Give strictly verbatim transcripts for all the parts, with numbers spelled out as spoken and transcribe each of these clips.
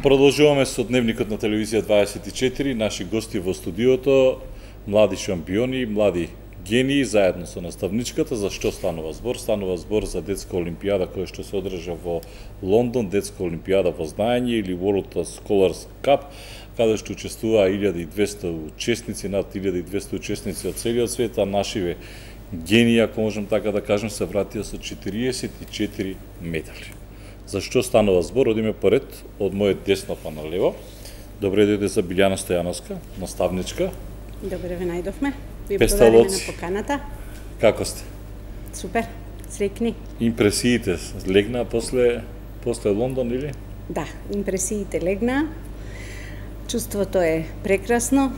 Продолжуваме со дневникот на телевизија дваесет и четири, наши гости во студиото, млади шампиони, млади гении, заедно со наставничката. За што станува збор? Станува збор за детска олимпијада која што се одржа во Лондон, детска олимпијада во знаење или World Scholars Cup, каде што учествуваа илјада и двесте учесници, над илјада и двесте учесници од целиот свет, а нашиве гении, ако можем така да кажем, се вратија со четириесет и четири медали. За што станува збор? Одиме поред, од мојот десно па на лево. Добре дојде за Билјана Стојановска, наставничка. Добре ве најдовме. Ви благодариме на поканата. Како сте? Супер, среќни. Импресиите легнаа после после Лондон или? Да, импресиите легнаа. Чувството е прекрасно.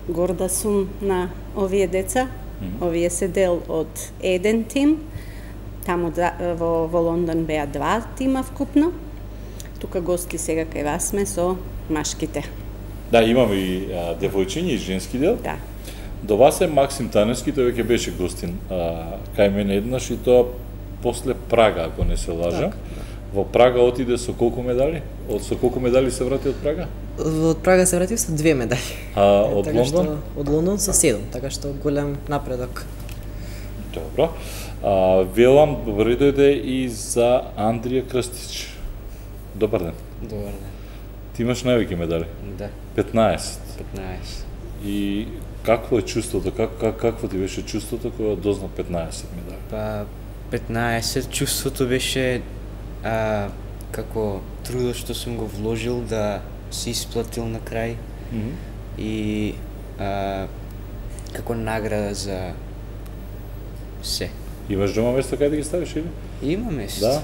Горда сум на овие деца. Mm-hmm. Овие се дел од еден тим. Таму во, во Лондон беа два тима вкупно. Тука гости сега кај вас сме со машките. Да, имаме и а, девојчиња и женски дел. Да. До вас е Максим Таневски, тој веќе беше гостин а, кај мене еднаш и тоа после Прага, ако не се лажам. Так. Во Прага отиде со колку медали? Од со колку медали се врати од Прага? Од Прага се врати со две медали. А од така Лондон? Што, од Лондон со седум, така што голем напредок. Добро. А, велам, добре дојде и за Андрија Крстич. Добар ден. Добар ден. Ти имаш највеќе медали? Да. петнаесет. петнаесет. И какво е чувството? Как, как, какво ти беше чувството кога дозна петнаесет медали? Па петнаесет чувството беше а, како трудот што сум го вложил да се исплатил на крај. Mm-hmm. И а, како награда за се. Имаш дома место кај да ги ставиш или? Има место. Да.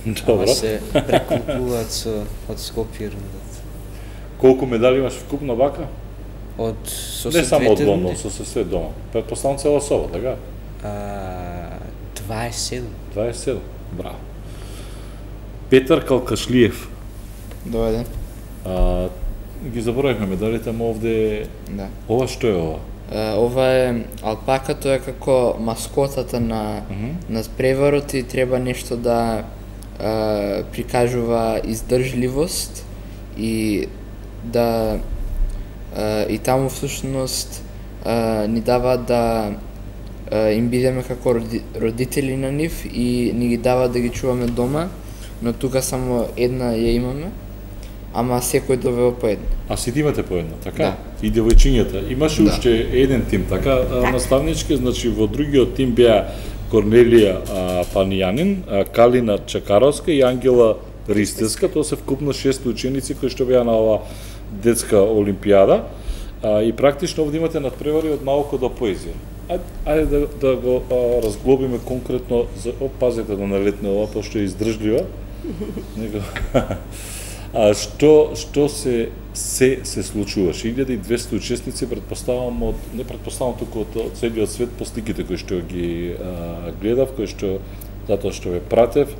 Добро. Ама се прекупуваат со од Скопје рундата. Колку медали имаш вкупно вака? Од со Не само од двете Лондон, рунди? со се све дома. Претпоставам цела соба, така? А, дваесет и седум. дваесет и седум. Браво. Петар Калкашлиев. Добар ден. А, ги заборавивме медалите, ама овде Да. ова што е ова? Uh, ова е алпака, тоа е како маскотата на Mm-hmm. на преварот и треба нешто да uh, прикажува издржливост и да uh, и таму всушност uh, ни дава да uh, им бидеме како роди, родители на нив и ни ги дава да ги чуваме дома, но тука само една ја имаме, ама секој добива по една. А сите имате по една, така? Да. И девојчињата. Имаше Да. уште еден тим, така, да. Наставнички, значи во другиот тим беа Корнелија а, Панијанин, а, Калина Чакаровска и Ангела Ристеска. Тоа се вкупно шест ученици кои што беа на ова детска олимпијада. А, и практично овде имате надпревари од наука до поезија. Ајде, ајде да, да го а, разглобиме конкретно, за, о, пазете да налетне ова, пошто е издржлива. Него... А што што се се се случуваше? илјада и двесте учесници, претпоставам од не претпоставам туку од, од целиот свет по сликите кои што ги а, гледав, кои што затоа што ве пратев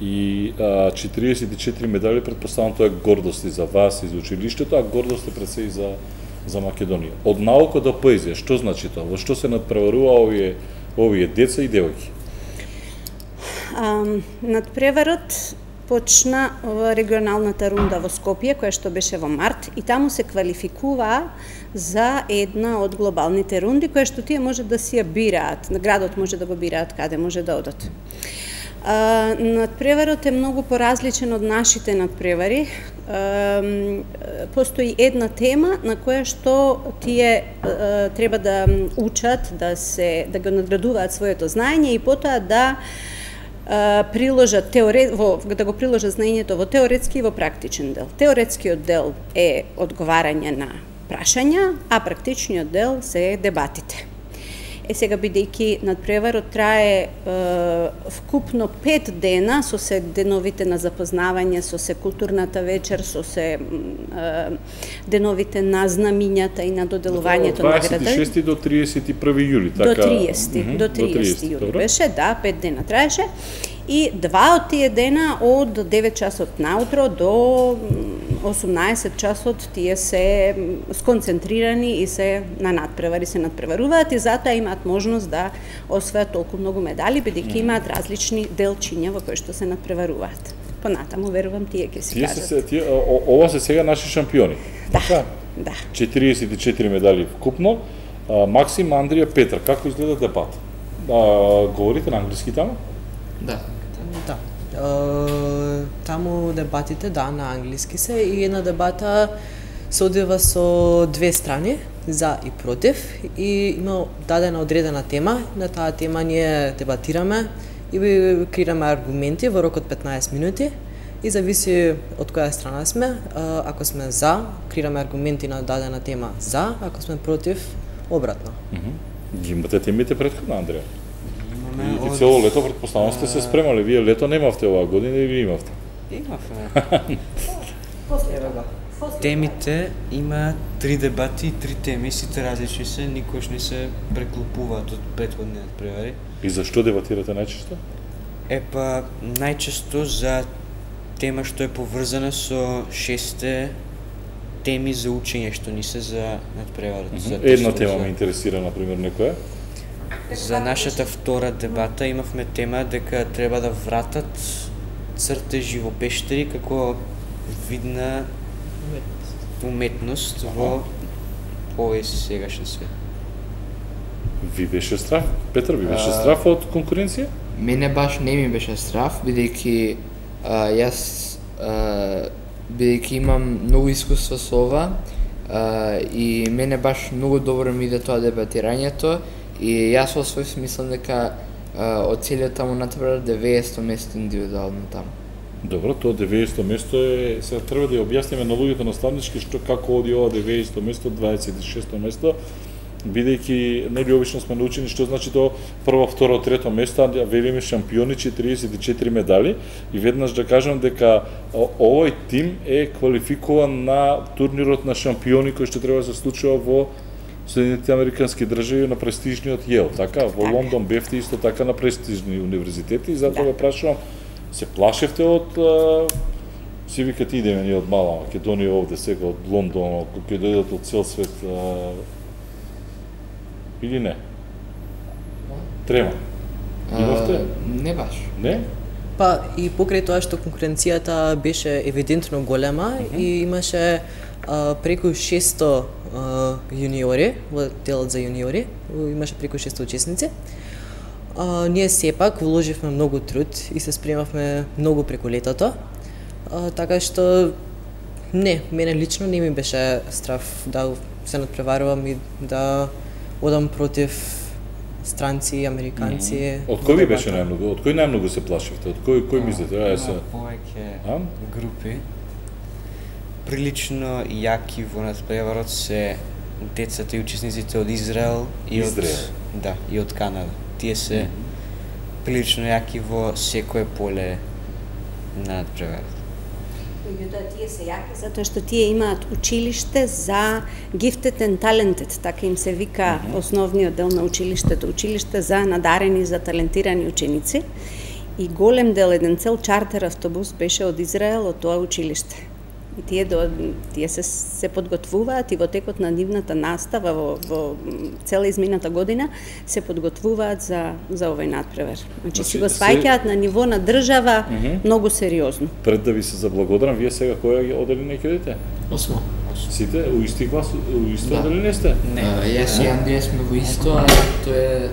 и а, четириесет и четири медали, претпоставам тоа е гордост и за вас и за училиштето, а гордост е пред се и за за Македонија. Од наука до поезија, што значи тоа? Во што се надпреварува овие овие деца и девојки? Um, надпреварот почна во регионалната рунда во Скопје, која што беше во март, и таму се квалификуваа за една од глобалните рунди, која што тие може да си ја бираат, на градот може да го бираат каде може да одат. Uh, надпреварот е многу поразличен од нашите надпревари. Uh, постои една тема на која што тие uh, треба да учат, да се да го надградуваат своето знаење и потоа да приложат теоре, во, да го приложат знаењето во теоретски и во практичен дел. Теоретскиот дел е одговарање на прашања, а практичниот дел се дебатите. Е сега, бидејќи надпреварот трае е, вкупно пет дена, со се деновите на запознавање, со се културната вечер, со се е, деновите на знамињата и на доделувањето на града. дваесет и шести до триесет и први јули, така? До триесети, mm-hmm. до триесети јули беше, да, пет дена траеше. И два од тие дена од девет часот наутро до осумнаесет часот тие се сконцентрирани и се на надпревари, се надпреваруваат и затоа имаат можност да освојат толку многу медали, бидејќи имаат различни делчиња во кои што се надпреваруваат. понатаму верувам тие ќе се Тие кажат. се тие о- ова се сега наши шампиони. Да. Така? Да. четириесет и четири медали вкупно. А, Максим, Андрија, Петар, како изгледа дебат? А, говорите на англиски таму? Да. Да. Е, таму дебатите, да, на англиски се и една дебата се одвива со две страни, за и против, и има дадена одредена тема. На таа тема ние дебатираме и креираме аргументи во рок од петнаесет минути и зависи од која страна сме. Ако сме за, креираме аргументи на дадена тема за, ако сме против, обратно. Ги имате темите претходно, Андрија? Имаме И, и од- цело лето претпоставам сте се спремале. Вие лето немавте оваа година и вие имавте. Имавме. Темите има три дебати и три теми, сите различни се, никош не се преклопуваат од претходниот превари. И зашто дебатирате најчесто? Е па најчесто за тема што е поврзана со шесте теми за учење што ни се за надпреварот. за Една тестот тема за- ме интересира, например, некоја. За нашата втора дебата имавме тема дека треба да вратат цртежи во пештери како видна уметност во овој сегашен свет. Ви беше страв? Петар, ви беше А, страв од конкуренција? Мене баш не ми беше страф, бидејќи а, јас а, бидејќи имам многу искуство со ова а, и мене баш многу добро ми иде тоа дебатирањето и јас во свој смислам дека а, од целиот таму натпревар деветдесето место индивидуално таму. Добро, тоа деветдесето место е, сега треба да ја објасниме на луѓето наставнички што како оди ова деветдесето место, дваесет и шесто место, бидејќи нели обично сме научени што значи тоа прво, второ, трето место, а велиме шампиони четириесет и четири медали и веднаш да кажам дека о- овој тим е квалификуван на турнирот на шампиони кој што треба да се случува во Соединетите Американски држави на престижниот Јел, така? Во Така. Лондон бевте исто така на престижни универзитети и затоа Да. ве прашувам, се плашевте од а, си викате идеме ние од мала Македонија овде сега од Лондон, кога ќе дојдат од цел свет а, или не? Трема. Имавте? А, не баш. Не? Па и покрај тоа што конкуренцијата беше евидентно голема и имаше а, преку шесто а, јуниори во делот за јуниори, имаше преку шесто учесници. А, ние сепак вложивме многу труд и се спремавме многу преку летото. А, така што не, мене лично не ми беше страв да се надпреварувам и да одам против странци, американци. Од во кој ви беше дебата. најмногу? Од кој најмногу се плашевте? Од кој кој мислите? Ај се. Има повеќе А? групи. Прилично јаки во надпреварот се децата и учесниците од Израел и Израел. од да, и од Канада. Тие се прилично јаки во секое поле на надпреварот. Меѓутоа тие се јаки затоа што тие имаат училиште за gifted and talented, така им се вика основниот дел на училиштето, училиште за надарени, за талентирани ученици. И голем дел, еден цел чартер автобус беше од Израел, од тоа училиште. И тие до, тие се се подготвуваат и во текот на нивната настава во, во цела измината година се подготвуваат за за овој надпревар. Значи Значи, си го се- сваќаат на ниво на држава многу сериозно. Пред да ви се заблагодарам, вие сега која ги оделение ќе идете? Осмо. Сите у исти клас, у исто Да. оделение сте? Не. А, јас и Андрија сме во исто, а тој е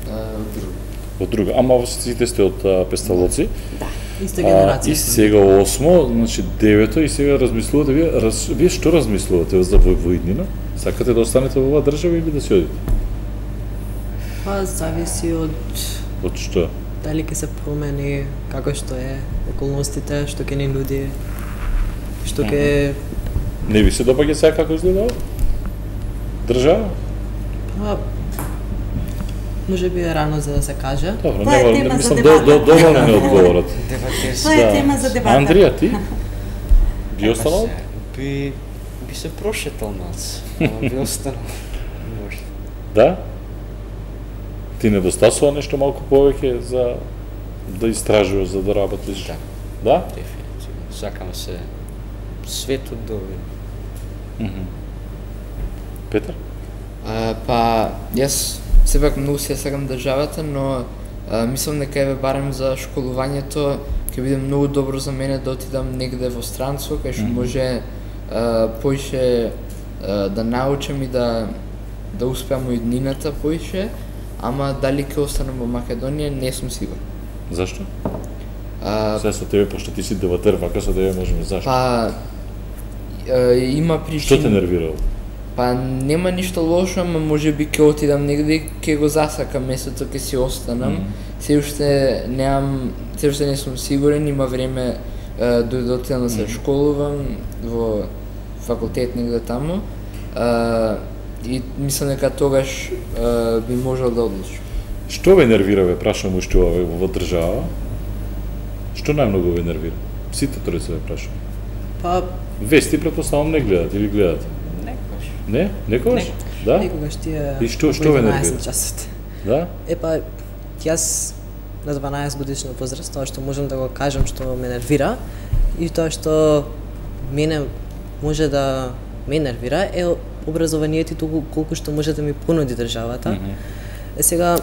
а, од друго. Од друга. Ама сите сте од а, Песталоци. Да. Иста А, генерација. и сме. сега осмо, значи девето и сега размислувате вие, раз, вие што размислувате за во воиднина? Сакате да останете во оваа држава или да си одите? Па зависи од Од што? дали ќе се промени, како што е околностите, што ќе ни нуди, што ќе Не ви се допаѓа сега како изгледа ова? Држава? па може би е рано за да се каже. Добро, Тоа е нема, тема за мислам, дебата. до, до, доволно не одговорат. Тоа е тема за дебата. Андрија, ти? Би останал? Би би се прошетал малце, ама би останал. Може. Да? Ти недостасува нешто малку повеќе за да истражуваш, за да работиш? Да. Да? Дефинитивно. Сакам се светот да видам. Петар? А, па, јас сепак многу се сакам државата, но а, мислам дека еве барем за школувањето ќе биде многу добро за мене да отидам негде во странство, кај што може а, поише а, да научам и да да успеам во иднината поише, ама дали ќе останам во Македонија не сум сигурен. Зашто? А, Сега со тебе, пошто ти си деватер, вака со тебе можеме зашто? Па а, има причини. Што те нервирало? Па нема ништо лошо, ама може би ќе отидам негде и ќе го засакам местото, ќе си останам. Mm -hmm. Се уште немам, се уште не сум сигурен, има време а, до да отидам да се школувам во факултет негде таму. А, и мислам дека тогаш а, би можел да одлучам. Што ве нервира, ве прашам уште овај во држава? Што најмногу ве нервира? Сите тројца ве прашам. Па Вести претпоставам не гледат или гледат? Некогаш. Не? Некогаш? Да? некогаш тие И што- што ве нервира? часот. Да? Епа, јас на дванаесет годишна возраст, тоа што можам да го кажам што ме нервира и тоа што мене може да ме нервира е образованието и толку колку што може да ми понуди државата. Mm -hmm. Е сега,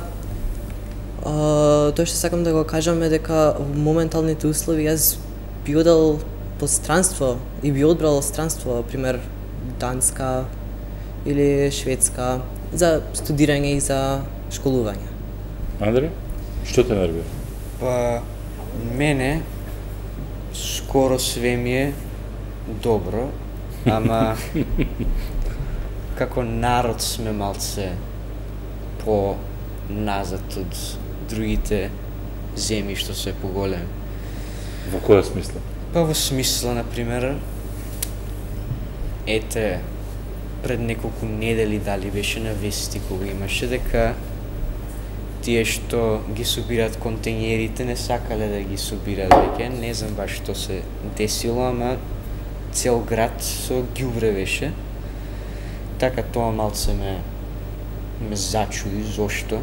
а, тоа што сакам да го кажам е дека во моменталните услови јас би одел по странство и би одбрал странство, пример Данска или Шведска, за студирање и за школување. Андре? Што те нервира? Па, мене скоро све ми е добро, ама како народ сме малце по назад од другите земји што се поголеми. Во која смисла? Па во смисла, например, ете, пред неколку недели дали беше на вести кога имаше дека тие што ги собираат контењерите не сакале да ги собираат веќе, не знам баш што се десило, ама цел град со ѓубре беше. Така тоа малце ме ме зачуди зошто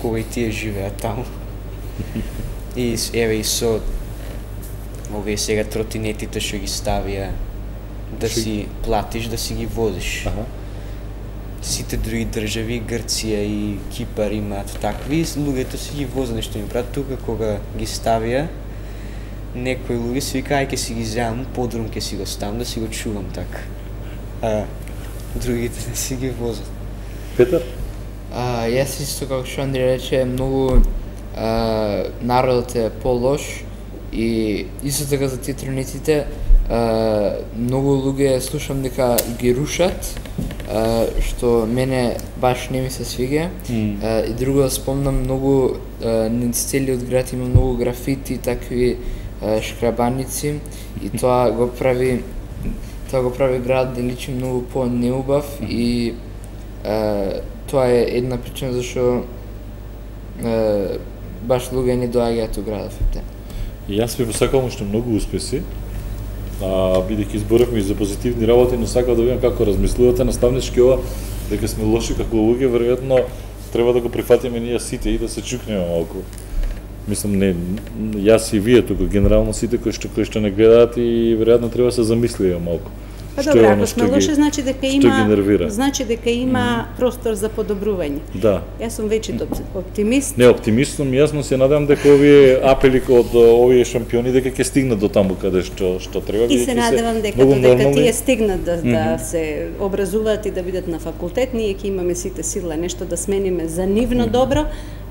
кога и тие живеат таму. И еве и со овие сега тротинетите што ги ставија да Шо- си платиш, да си ги возиш. Аха. Сите други држави, Грција и Кипар имаат такви, луѓето си ги возат нешто им прават. Тука кога ги ставија, некои луѓе си вика, ај ќе си ги земам, подрум ќе си го ставам да си го чувам така. А другите не си ги возат. Петар? А, јас исто како што Андри рече, многу а, народот е по-лош и исто така за тие тротинетите, а, многу луѓе слушам дека ги рушат, а, што мене баш не ми се свиѓа. Mm. А, и друго спомнам многу а, низ целиот град има многу графити, такви а, шкрабаници и тоа го прави тоа го прави град да личи многу по-неубав и а, тоа е една причина зашто а, баш луѓе не доаѓаат у градов. И јас ви посакувам уште многу успеси, а, бидејќи изборавме и за позитивни работи, но сакам да видам како размислувате наставнички ова, дека сме лоши како луѓе, веројатно треба да го прифатиме ние сите и да се чукнеме малку. Мислам, не, јас и вие тука, генерално сите кои што, кои што не гледаат и веројатно треба да се замислиме малку. Па Што добро, е ако оно сме што лоши, ги- значи дека што ги има нервира? значи дека има простор за подобрување. Да. Јас сум вечит оп- оптимист. Не, оптимист сум, јасно се надевам дека овие апели од овие шампиони дека ќе стигнат до таму каде што што треба. И бидејќи се надевам дека многу додека нормални. тие стигнат да, да се образуваат и да бидат на факултет, ние ќе имаме сите сила нешто да смениме за нивно добро,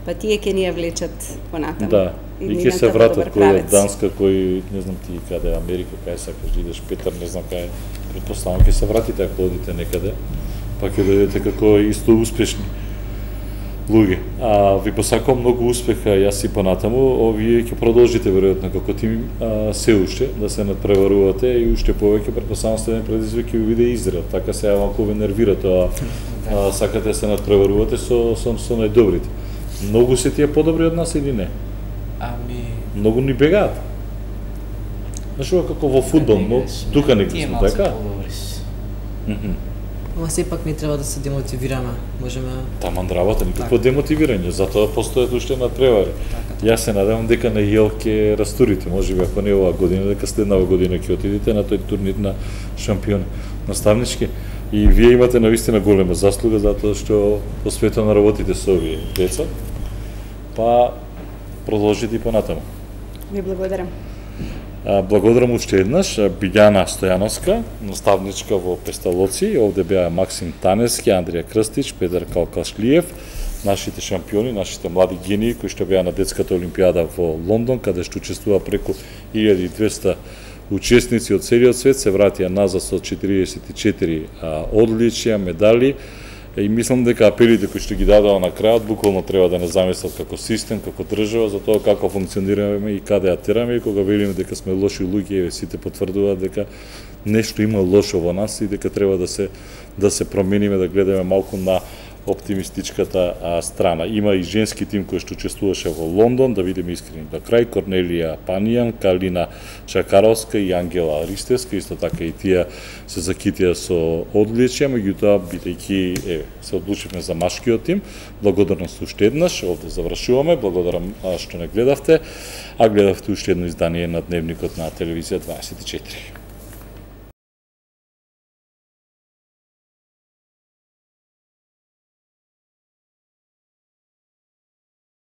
па тие ќе ни ја влечат понатаму. Да, и ќе нивната се во вратат добар кој од правец. Данска, кој не знам ти каде Америка, кај сакаш да идеш, Петар, не знам кај, претпоставам ќе се вратите ако одите некаде, па ќе дојдете како исто успешни луѓе. А ви посакувам многу успеха јас и понатаму, овие ќе продолжите веројатно како тим а, се уште да се надпреварувате и уште повеќе претпоставам следен предизвик ќе ви биде Израел. Така се малку ве нервира тоа, а, сакате да се надпреварувате со со, со најдобрите. Многу се тие подобри од нас или не? Ами, Многу ни бегаат. Знаеш ова како во фудбал, но тука не тие сме малце така. подобри се. Мгм. Ама сепак не треба да се демотивираме. Можеме Таман работа, никакво демотивирање, затоа постојат уште надпревари. Јас се надевам дека на Јел ќе растурите, можеби ако не оваа година, дека следнава година ќе отидете на тој турнир на шампион наставнички. И вие имате навистина голема заслуга затоа што посветено работите со овие деца. Па продолжите и понатаму. Ви благодарам. Благодарам уште еднаш Билјана Стојановска, наставничка во Песталоци, овде беа Максим Танески, Андрија Крстич, Петар Калкашлиев, нашите шампиони, нашите млади гении кои што беа на детската олимпијада во Лондон, каде што учествува преку илјада и двесте учесници од целиот свет, се вратија назад со четириесет и четири одличија, медали. И мислам дека апелите кои што ги дадоа на крајот буквално треба да не замислат како систем, како држава, за тоа како функционираме и каде атираме, и кога велиме дека сме лоши луѓе, сите потврдуваат дека нешто има лошо во нас и дека треба да се да се промениме, да гледаме малку на оптимистичката а, страна. Има и женски тим кој што учествуваше во Лондон, да видиме искрени до крај, Корнелија Панијан, Калина Чакаровска и Ангела Ристевска, исто така и тие се закитија со одличија, меѓутоа бидејќи е, се одлучивме за машкиот тим. Благодарност уште еднаш, овде завршуваме, благодарам што не гледавте, а гледавте уште едно издание на Дневникот на телевизија дваесет и четири.